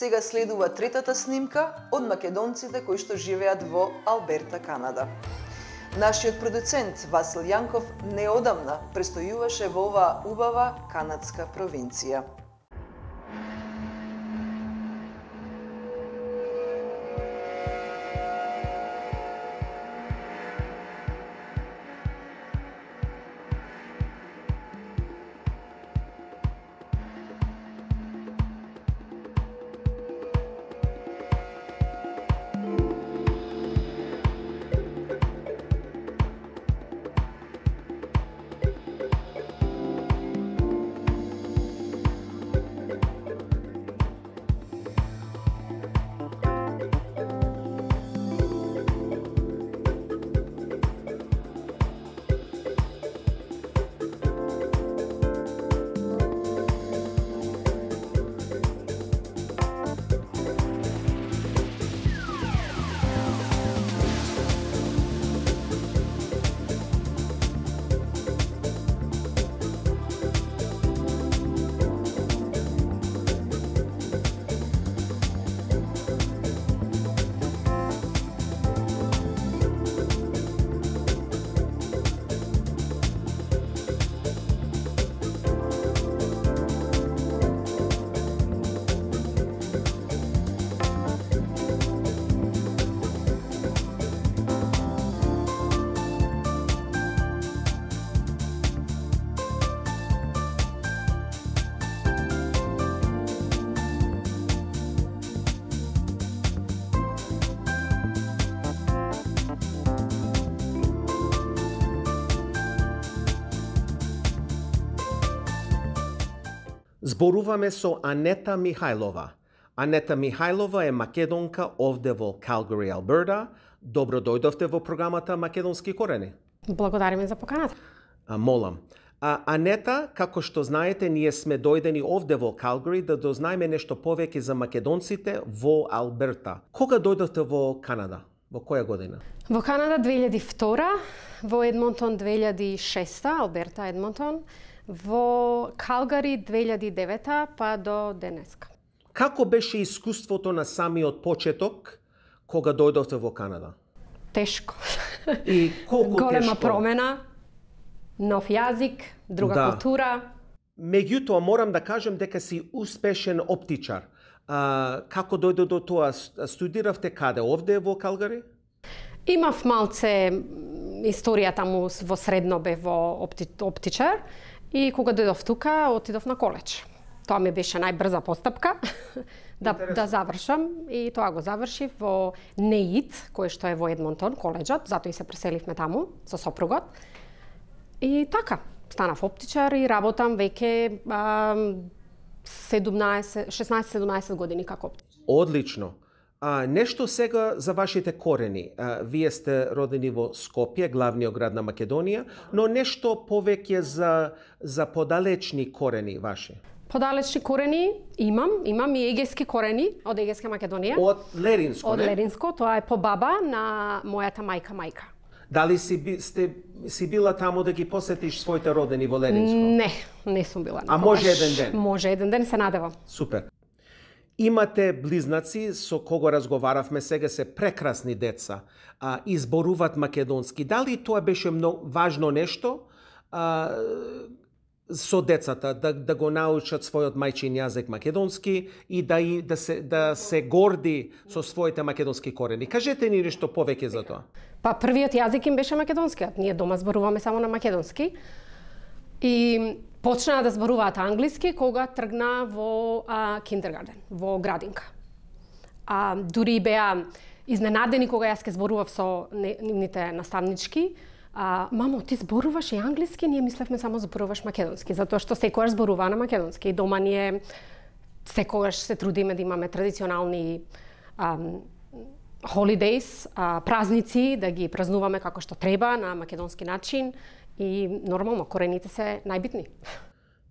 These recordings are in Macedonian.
Сега следува третата снимка од македонците кои што живеат во Алберта, Канада. Нашиот продуцент Васил Јанков неодамна престојуваше во оваа убава канадска провинција. Зборуваме со Анета Михајлова. Анета Михајлова е македонка овде во Калгари, Алберта. Добро дојдовте во програмата Македонски корени. Благодариме за поканата. Молам. Анета, како што знаете, ние сме дојдени овде во Калгари да дознаеме нешто повеќе за македонците во Алберта. Кога дојдовте во Канада? Во која година? Во Канада 2002, во Едмонтон 2006, Алберта, Едмонтон, во Калгари 2009 па до денеска. Како беше искуството на самиот почеток кога дојдовте во Канада? Тешко. И колку Голема тешко? промена, нов јазик, друга култура. Меѓутоа морам да кажем дека си успешен оптичар. Како дојде до тоа? Студиравте каде? Овде во Калгари? Имав малце историја таму во средно бев во оптичар и кога дојдов тука отидов на коледж. Тоа ми беше најбрза постапка да завршам и тоа го завршив во НЕИТ, кој што е во Едмонтон, коледжот, затоа и се преселивме таму со сопругот. И така, станав оптичар и работам веќе 16-17 години како оптичар. Одлично. Нешто сега за вашите корени. Вие сте родени во Скопје, главниот град на Македонија, но нешто повеќе за подалечни корени ваши. Подалечни корени имам и егејски корени од Егејска Македонија. Од Леринско, Од Леринско, тоа е по баба на мојата мајка. Дали си била таму да ги посетиш своите родени во Леринско? Не сум била. А може еден ден? Може еден ден, се надевам. Супер. Имате близнаци со кого разговаравме, сега се прекрасни деца, изборуваат македонски. Дали тоа беше многу важно нешто со децата, да го научат својот мајчин јазик македонски и да се горди со своите македонски корени? Кажете ни нешто повеќе за тоа. Па првиот јазик им беше македонскиот. Ние дома зборуваме само на македонски. И почнаа да зборуваат англиски кога тргна во киндергарден, во градинка. Дури беа изненадени кога јас ке зборував со нивните наставнички. Мамо, ти зборуваш и англиски? Ние мислевме само зборуваш македонски, затоа што секогаш зборува на македонски. И дома ние секогаш се трудиме да имаме традиционални holidays, празници, да ги празнуваме како што треба, на македонски начин. И нормално, корените се најбитни.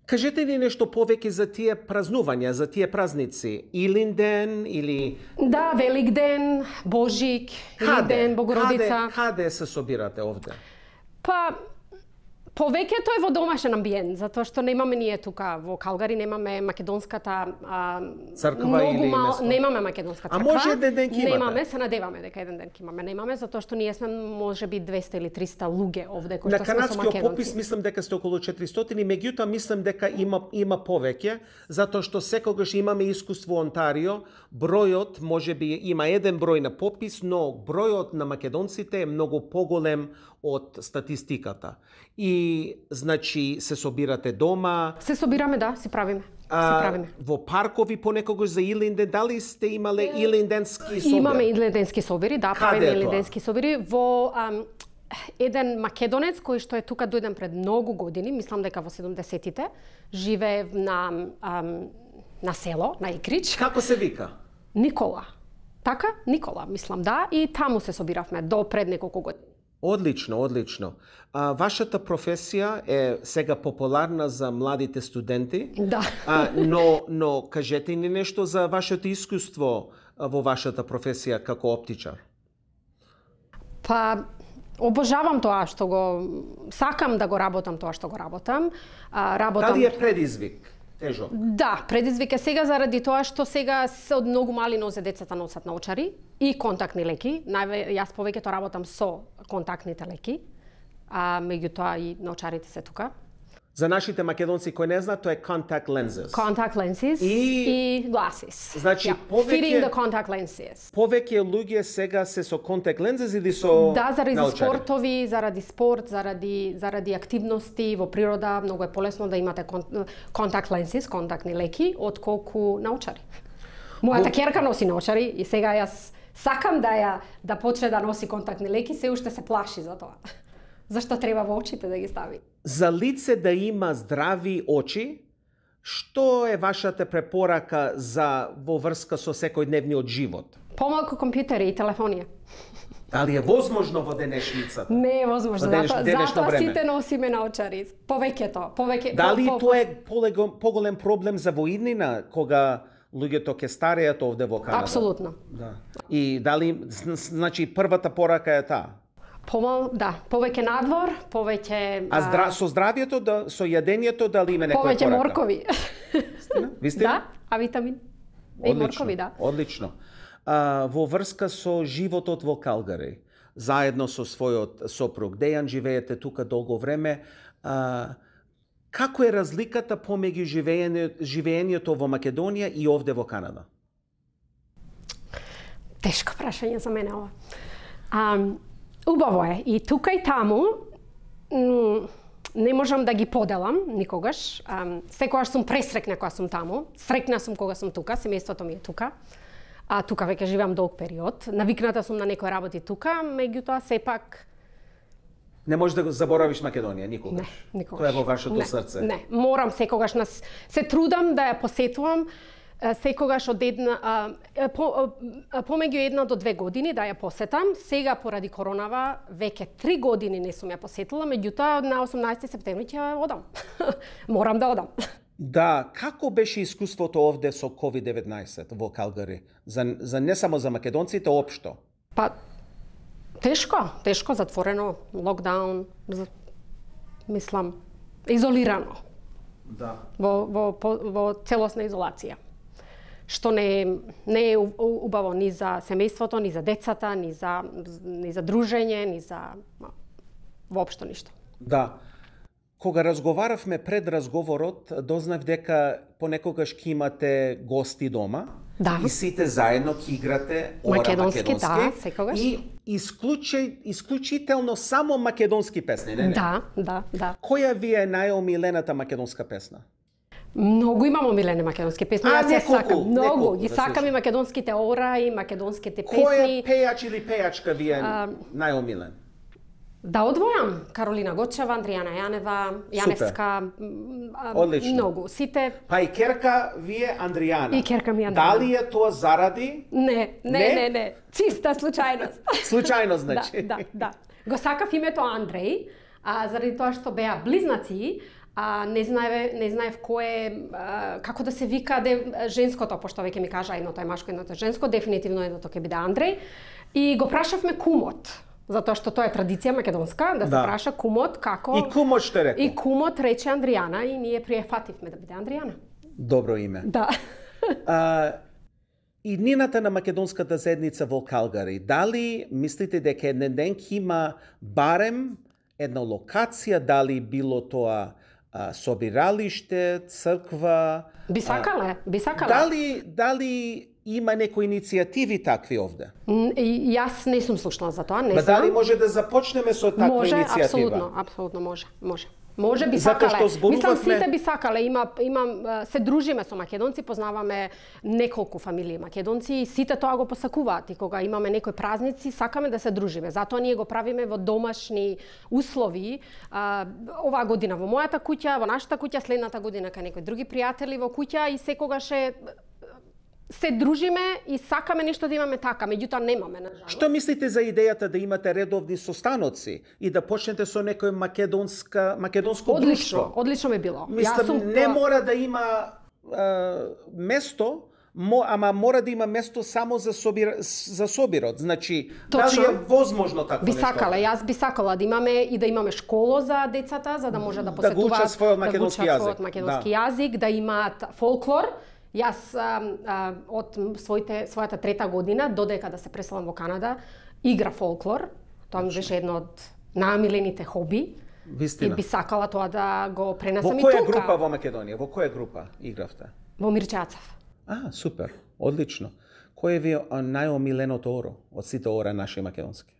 Кажете ни нешто повеќе за тие празнувања, за тие празници. Илинден или... Да, Великден, Божик, Илинден, Богородица. Каде се собирате овде? Па, Повеќето е во домашен амбиент, затоа што немаме ние тука во Калгари, немаме македонската црква или место. Немаме македонска црква. А може еден ден ќе имате? Немаме, се надеваме дека еден ден ќе имаме. Немаме затоа што ние сме можеби 200 или 300 луѓе овде кои што сме со македонци. На канадскиот попис мислам дека сте околу 400, меѓутоа мислам дека има повеќе, затоа што секогаш имаме искуство во Онтарио, бројот можеби има еден број на попис, но бројот на македонците е многу поголем од статистиката. И, значи, се собирате дома? Се собираме, да, си правиме. Во паркови понекогаш за Илинден, дали сте имале илинденски собир? Имаме илинденски собири, да, правиме илинденски собири. Во еден македонец кој што е тука дојден пред многу години, мислам дека во 70-тите, живее на село, на Икрич. Како се вика? Никола. Така? Никола, мислам, да. И таму се собиравме до пред неколку години. Одлично, одлично. Вашата професија е сега популарна за младите студенти. Да. Но кажете ни нешто за вашето искуство во вашата професија како оптичар. Па, обожавам тоа што го сакам да го работам тоа што го работам. Дали е предизвик? Тежок? Да, предизвик е сега заради тоа што сега се од многу мали нозе децата носат наочари и контактни леки. Јас повеќето работам со контактните леки, меѓутоа и наочарите се тука. За нашите македонци кои не знаат, тоа е contact lenses. Contact lenses и glasses. Значи, fitting the contact lenses. Повеќе луѓе сега се со contact lenses или со Да, заради наочари? спортови, заради спорт, заради активности во природа, многу е полесно да имате contact lenses, контактни леки, отколку наочари. Мојата ќерка носи наочари и сега јас сакам да почне да носи контактни леки, се уште се плаши за тоа. Зашто треба во очите да ги стави? За лице да има здрави очи, што е вашата препорака во врска со секојдневниот живот? Помалку компјутери и телефонија. Дали е возможно во денешницата? Не е возможно, затоа време? сите носиме наочари. Повеќето. Дали тоа е поголем проблем за во иднина, кога луѓето ќе стареат овде во Канада? Апсолутно. Да. И дали, значи, првата порака е таа? Да, повеќе надвор, повеќе... со здравието, со јадењето, дали има некоја повеќе порака? моркови. Вистина? Да, витамин. И моркови, да. Одлично. Во врска со животот во Калгари, заедно со својот сопруг Дејан, живеете тука долго време. Како е разликата помеѓу живеењето во Македонија и овде во Канада? Тешко прашање за мене ова. Убаво е. И тука и таму не можам да ги поделам никогаш. Секогаш сум пресрекна кога сум таму. Срекна сум кога сум тука, семејството ми е тука. Тука веќе живеам долг период. Навикната сум на некои работи тука, меѓутоа сепак не можеш да го заборавиш Македонија никогаш. Не, никогаш. Тоа е во вашето срце. Не, морам секогаш се трудам да ја посетувам. Секогаш од помеѓу 1 до 2 години да ја посетам. Сега поради коронава веќе 3 години не сум ја посетила, меѓутоа на 18 септември ќе одам. Морам да одам. Да, како беше искуството овде со COVID-19 во Калгари? За не само за македонците, општо. Па тешко, затворено, локдаун, мислам, изолирано. Да. Во целосна изолација. Што не е убаво ни за семејството, ни за децата, ни за дружење, ни за воопшто ништо. Да. Кога разговаравме пред разговорот, дознав дека понекогаш ќе имате гости дома. Да. И сите заедно ќе играте македонски, да, секогаш. И исклучително само македонски песни, не? Да. Која ви е најомилената македонска песна? Многу имам омилени македонски песни. Јас се сакам. Многу. Да, И сакам и македонските ора, и македонските песни. Кој пејач или пејачка ви е најомилен? Да одвојам Каролина Гочева, Андријана Јаневска, Одлично. Многу. Сите... Па и керка ви е Андријана. И керка ми е Андријана. Дали е тоа заради? Не. Чиста случајност. Случајно, значи. Да. Го сакав името Андреј, заради тоа што беа близнаци, не знаев како да се вика женското, пошто веќе ми кажа едното е машко, едното е женско, дефинитивно едното ќе биде Андреј. И го прашавме кумот. Затоа што тоа е традиција македонска, да се праша кумот како... И кумот што рекол? И кумот рече Андријана и ние приефативме да биде Андријана. Добро име. Да. И нината на македонската заедница во Калгари, дали мислите дека еден ден има барем една локација, дали било тоа собиралиште, црква? Би сакале. Дали има некои иницијативи такви овде? Јас не сум слушнала за тоа, не знам. Дали може да започнеме со таква иницијатива? Апсолутно може. Може би сакале. Мислам сите би сакале. Се дружиме со македонци, познаваме неколку фамилии македонци и сите тоа го посакуваат. И кога имаме некои празници, сакаме да се дружиме. Затоа ние го правиме во домашни услови. Оваа година во мојата куќа, во нашата куќа, следната година кај некои други пријатели во куќа и секогаш се дружиме и сакаме нешто да имаме така, меѓутоа немаме, на жалост. Што мислите за идејата да имате редовни состаноци и да почнете со некој македонско друштво? Одлично би било. Мислам, не мора да има место, ама мора да има место само за собирот. Значи, дали е возможно такво нешто? Јас би сакала да имаме и да имаме школо за децата, за да може да посетуваат, да го учат својот македонски јазик, да имаат фолклор. Јас од својата трета година, додека да се преселам во Канада, игра фолклор. Тоа ми беше едно од најомилените хоби. Вистина. И би сакала тоа да го пренесам и тука. Во која група во Македонија? Во која група игравте? Во Мирчацев. Супер. Одлично. Кој ви е најомиленото оро од сите ора наши македонски?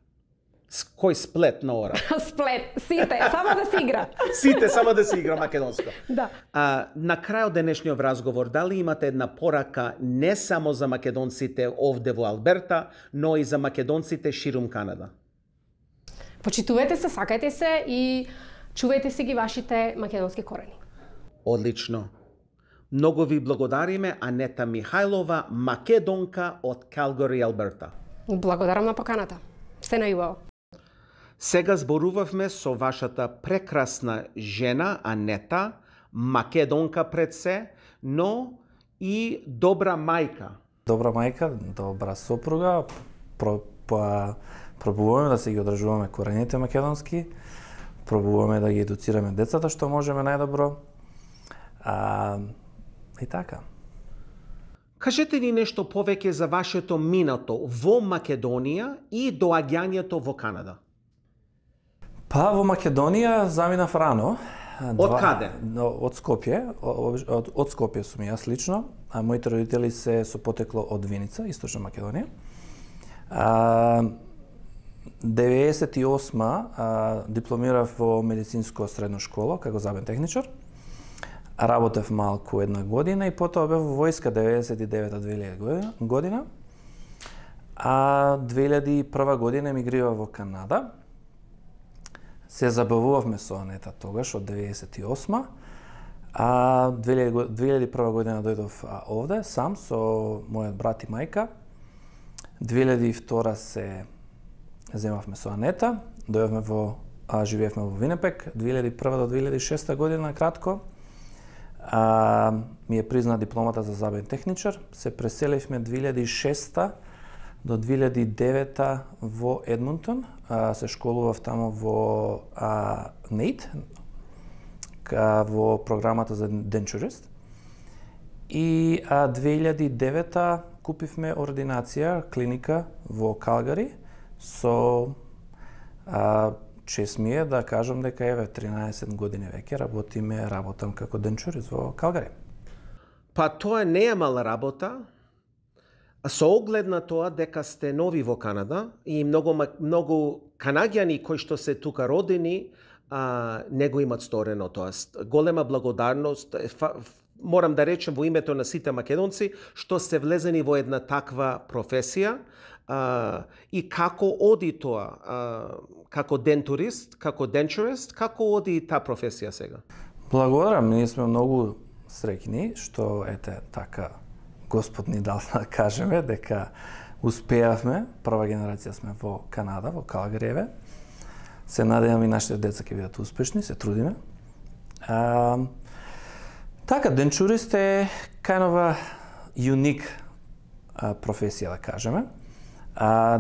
Кој сплет на ора? Сплет, сите, само да се игра. Сите, само да се игра македонско. Да. На крајот денешниот разговор, дали имате една порака не само за македонците овде во Алберта, но и за македонците ширум Канада? Почитувајте се, сакајте се и чувајте си ги вашите македонски корени. Одлично. Многу ви благодариме, Анета Михајлова, македонка од Калгари, Алберта. Благодарам на поканата. Се најубаво. Сега зборувавме со вашата прекрасна жена, Анета, македонка пред се, но и добра мајка. Добра мајка, добра сопруга, пробуваме да се ги одржуваме корените македонски, пробуваме да ги едуцираме децата што можеме најдобро. И така. Кажете ни нешто повеќе за вашето минато во Македонија и доаѓањето во Канада. Во Македонија заминав рано. Од каде? Од Скопје. Од Скопје сум јас лично, а моите родители се со потекло од Виница, Источна Македонија. 98 дипломирав во медицинско средно школа како забен техничар. Работев малку една година и потоа бев во војска 99-2000 година. 2001 година емигрирав во Канада. Се забавувавме со Анета тогаш од 98. 2001 година дојдов овде сам со мојот брат и мајка. 2002 се земавме со Анета, дојдовме живеевме во Винепек 2001 до 2006 година кратко. Ми е призна дипломата за забен техничар. Се преселивме 2006 до 2009 во Едмонтон. Се школував тамо во NAIT, во програмата за денчурист. И 2009 купивме ординација, клиника во Калгари со чест ми е да кажам дека 13 години веќе работам како денчурист во Калгари. Тоа не е мала работа, со оглед на тоа дека сте нови во Канада и многу канаѓани кои што се тука родени не го имат сторено тоа. Голема благодарност, морам да речем во името на сите македонци, што сте влезени во една таква професија и како оди тоа, како дентурист, како денчурист, како оди таа професија сега? Благодарам, ние сме многу среќни што така Господ ни дал да кажеме дека успеавме, прва генерација сме во Канада, во Калгариеве. Се надевам и нашите деца ќе бидат успешни, се трудиме. Така, денчурист е кајнова юник професија, да кажеме.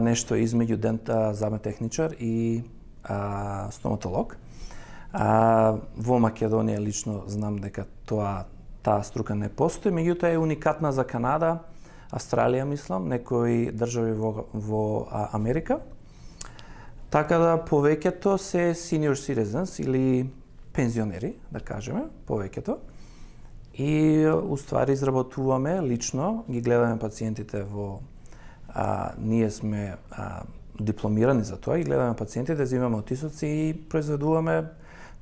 нешто измеѓу замен техничар и стоматолог. Во Македонија лично знам дека таа струка не постои, меѓутоа е уникатна за Канада, Австралија, мислам, некои држави во Америка. Така да повеќето се senior citizens или пензионери, да кажеме, повеќето. И уствари изработуваме лично, ги гледаме пациентите ние сме дипломирани за тоа и гледаме пациентите, взимаме отисоци и произведуваме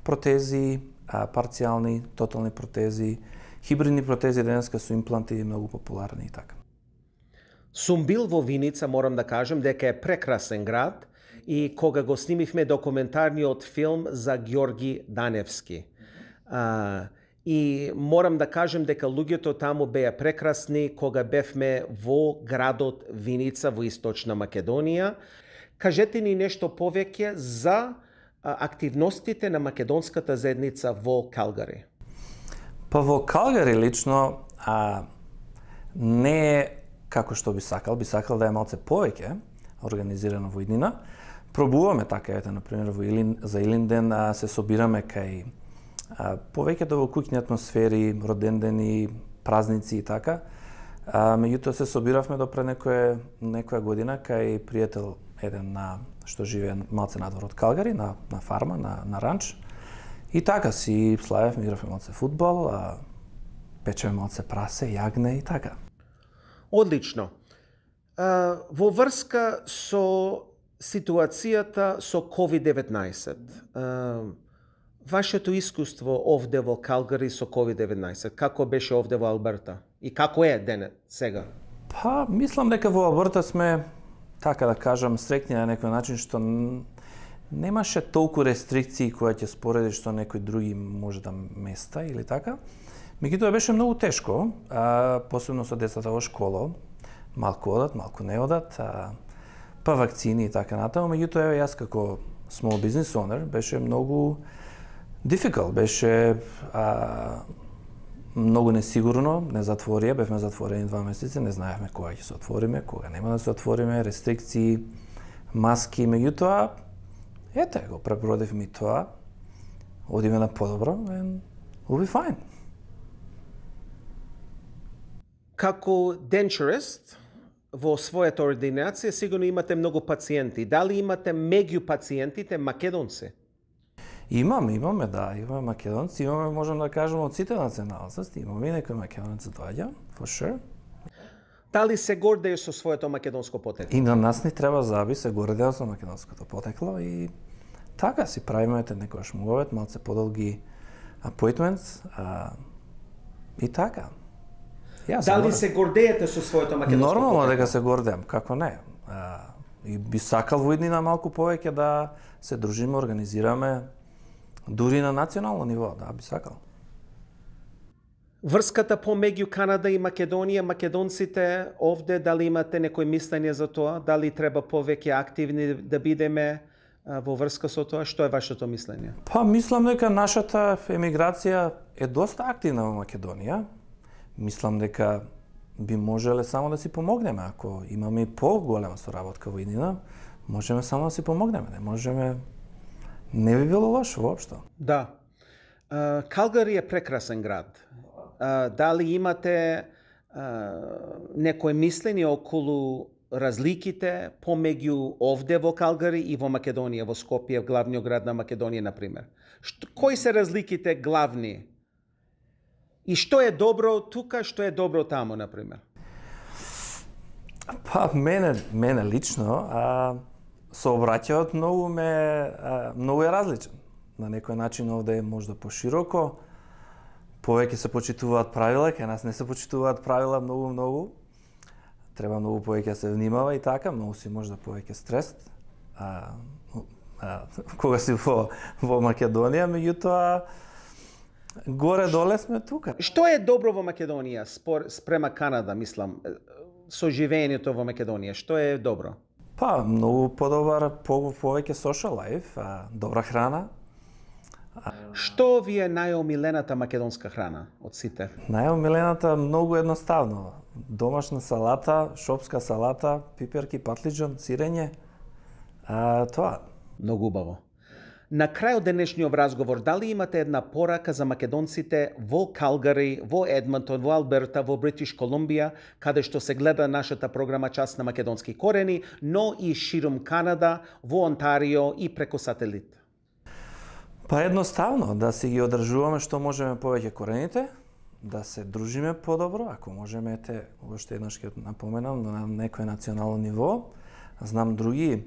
протези, парцијални, тотални протези, хибридни протези денеска со импланти многу популарни и така. Сум бил во Виница, морам да кажем дека е прекрасен град и кога го снимивме документарниот филм за Ѓорги Даневски. И морам да кажем дека луѓето таму беа прекрасни кога бевме во градот Виница во Источна Македонија. Кажете ни нешто повеќе за активностите на македонската заедница во Калгари. Па во Калгари лично не е како што би сакал да е малце повеќе организирано во иднина. Пробуваме така, ете, например, за Илинден се собираме кај повеќето во куќни атмосфери, родендени, празници и така. Меѓутоа се собиравме допред некоја година кај пријател еден што живее малце надвор од Калгари, на фарма, на ранч. И така си славевме, игравме малце фудбал, печеме малце прасе, јагне и така. Одлично. Во врска со ситуацијата со COVID-19, вашето искуство овде во Калгари со COVID-19, како беше овде во Алберта? И како е сега? Па, мислам дека во Алберта сме, така да кажам, среќни на некој начин што немаше толку рестрикции кои ќе споредиш што некои други може да места или така. Меѓутоа беше многу тешко, посебно со децата во школа, малку одат, малку не одат, па вакцини и така натаму. Меѓутоа јас како small business owner беше многу difficult, беше многу несигурно, не затворија, бевме затворени 2 месеци, не знаевме кога ќе се отвориме, кога нема да се отвориме, рестрикции, маски, меѓутоа ете, го пребродивме тоа, одиме на подобро and we'll be fine. Како денчурист, во својата ординација сигурно имате многу пациенти. Дали имате меѓу пациентите македонци? Имаме македонци, имаме, можам да кажем, од сите националности, имаме и некој македонец доаѓа, for sure. Дали се гордееш со своето македонско потекло? И на нас ни треба заби се гордеа со македонското потекло и така си правиме некојаш муавет, малце подолги appointments и така. Дали се гордеете со своето македонско потекло? Нормално дека се гордеам, како не. И би сакал во иднина малку повеќе да се дружиме, организираме, дури на национално ниво, да, би сакал. Врската помеѓу Канада и Македонија, македонците овде, дали имате некој мислење за тоа? Дали треба повеќе активни да бидеме во врска со тоа? Што е вашето мислење? Па, мислам дека нашата емиграција е доста активна во Македонија. Мислам дека би можеле само да си помогнеме. Ако имаме поголема соработка во иднина, можеме само да си помогнеме. Не би било лошо воопшто. Да. Калгари е прекрасен град. Дали имате некој мислење околу разликите помеѓу овде во Калгари и во Македонија, во Скопје, главниот град на Македонија, например? Кои се разликите главни? И што е добро тука, што е добро таму, например? Па, мене лично, сообраќајот многу е различен. На некој начин овде е можда пошироко, повеќе се почитуваат правила, кај нас не се почитуваат правила многу. Треба многу повеќе да се внимава и така, многу си можда повеќе стрес. Кога си во Македонија, меѓутоа горе-доле сме тука. Што е добро во Македонија спрема Канада, мислам, со живеењето во Македонија? Што е добро? Па, многу подобар, повеќе social life, добра храна. Што ви е најомилената македонска храна од сите? Најомилената многу едноставно. домашна салата, шопска салата, пиперки, патлиџан, сирење. Тоа. Многу убаво. На крај од денешниот разговор, дали имате една порака за македонците во Калгари, во Едмонтон, во Алберта, во Бритиш Колумбија, каде што се гледа нашата програма Час на македонски корени, но и ширум Канада, во Онтарио и преку сателит? Па едноставно, да си ги одржуваме што можеме повеќе корените, да се дружиме подобро, ако можеме, уште еднаш ќе напоменам, на некој национално ниво. Знам други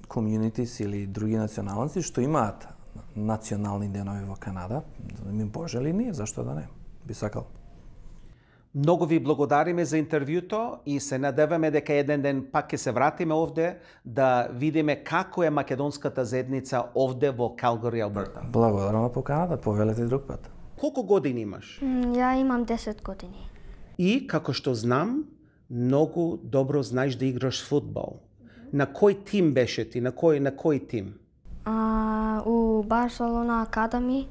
communities или други националности што имаат национални денови во Канада, ми пожели ние, зашто да не? Би сакал. Многу ви благодариме за интервјуто и се надеваме дека еден ден пак ќе се вратиме овде да видиме како е македонската заедница овде во Калгари, Алберта. Благодарам на поканата, повелете друг пат. Колку години имаш? Ја имам 10 години. И, како што знам, многу добро знаеш да играш фудбал. На кој тим беше ти? На кој тим? У Барселона Академи.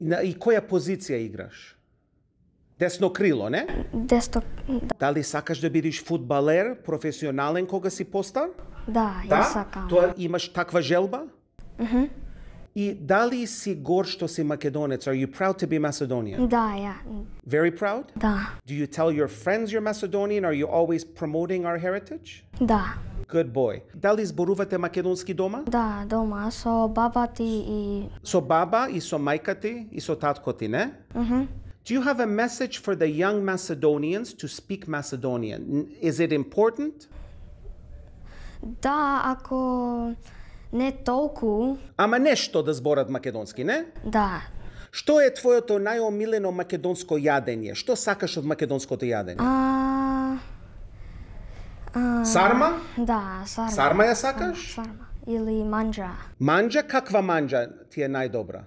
И која позиција играш? Десно крило, не? Десно. Дали сакаш да бидеш фудбалер, професионален кога си постар? Да, ја сакам. Тоа имаш таква желба? И дали си гор што си македонец? Are you proud to be Macedonian? Да, ја. Very proud? Да. Do you tell your friends you're Macedonian? Are you always promoting our heritage? Да. Good boy. Дали зборувате македонски дома? Да, дома, со баба ти и... Со баба и со мајка ти и со татко ти, не? Do you have a message for the young Macedonians to speak Macedonian? Is it important? Да, ако не толку... Ама нешто да зборат македонски, не? Да. Што е твоето најомилено македонско јадење? Што сакаш од македонското јадење? Сарма? Да, сарма. Сарма ја сакаш? Сарма. Или манџа. Манџа? Каква манџа ти е најдобра?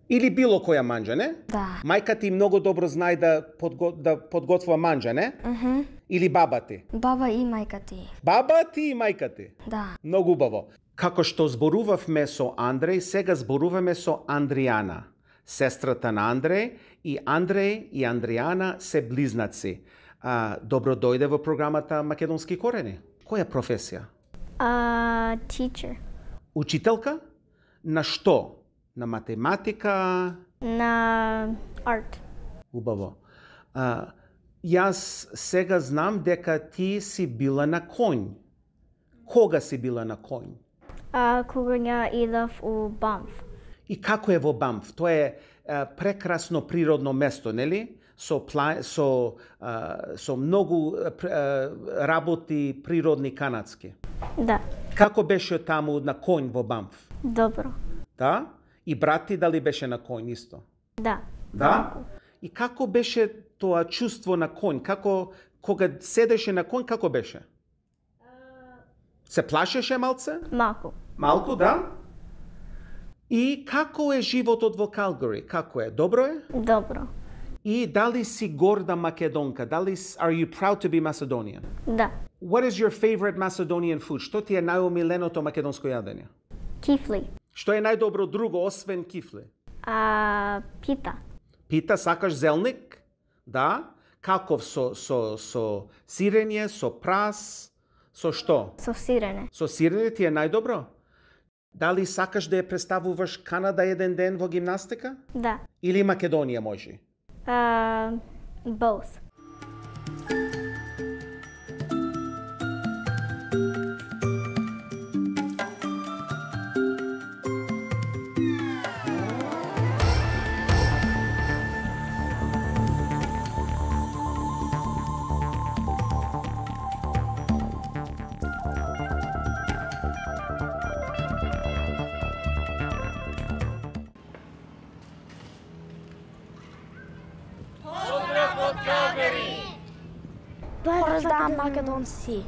Или било која манџа, не? Да. Мајка ти многу добро знае да подготвува манџа, не? Или баба ти? Баба и мајка ти. Баба ти и мајка ти? Да. Многу убаво. Како што зборувавме со Андреј, сега зборуваме со Андријана, сестрата на Андреј, и Андреј и Андријана се близнаци. Добро дојде во програмата Македонски корени. Која професија? Teacher. Учителка? На што? На математика? На арт. Убаво. Јас сега знам дека ти си била на конј. Кога си била на конј? Кога ја идав у Банф. И како е во Банф? Тоа е прекрасно природно место, нели? Со многу работи природни канадски. Да. Како беше таму на конј во Банф? Добро. Да? И брат ти дали беше на конј исто? Да. Да? И како беше тоа чувство на конј? Како, кога седеше на конј, како беше? Се плашеше малце? Малку. Малку, да? И како е животот во Калгари? Како е? Добро е? Добро. И дали си горда македонка? Are you proud to be Macedonian? Да. What is your favorite Macedonian food? Што ти е најомиленото македонско јадење? Кифли. Што е најдобро друго освен кифли? Пита. Пита, сакаш зелник? Да? Каков со сирење, со прас, со што? Со сирење. Со сирење ти е најдобро? Дали сакаш да ја представуваш Канада еден ден во гимнастика? Да. Или Македонија може? Both. Поздрав македонци!